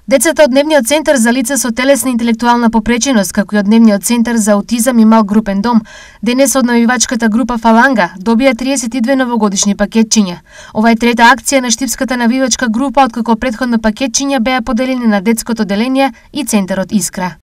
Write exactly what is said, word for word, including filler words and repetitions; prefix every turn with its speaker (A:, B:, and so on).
A: Децата од Дневниот центар за лица со телесна интелектуална попреченост, како и од Дневниот центар за аутизам и мал групен дом, денес од навивачката група Фаланга добија триесет и две новогодишни пакетчиња. Ова е трета акција на штипската навивачка група, откако претходно пакетчиња беа поделени на детското одделение и центарот Искра.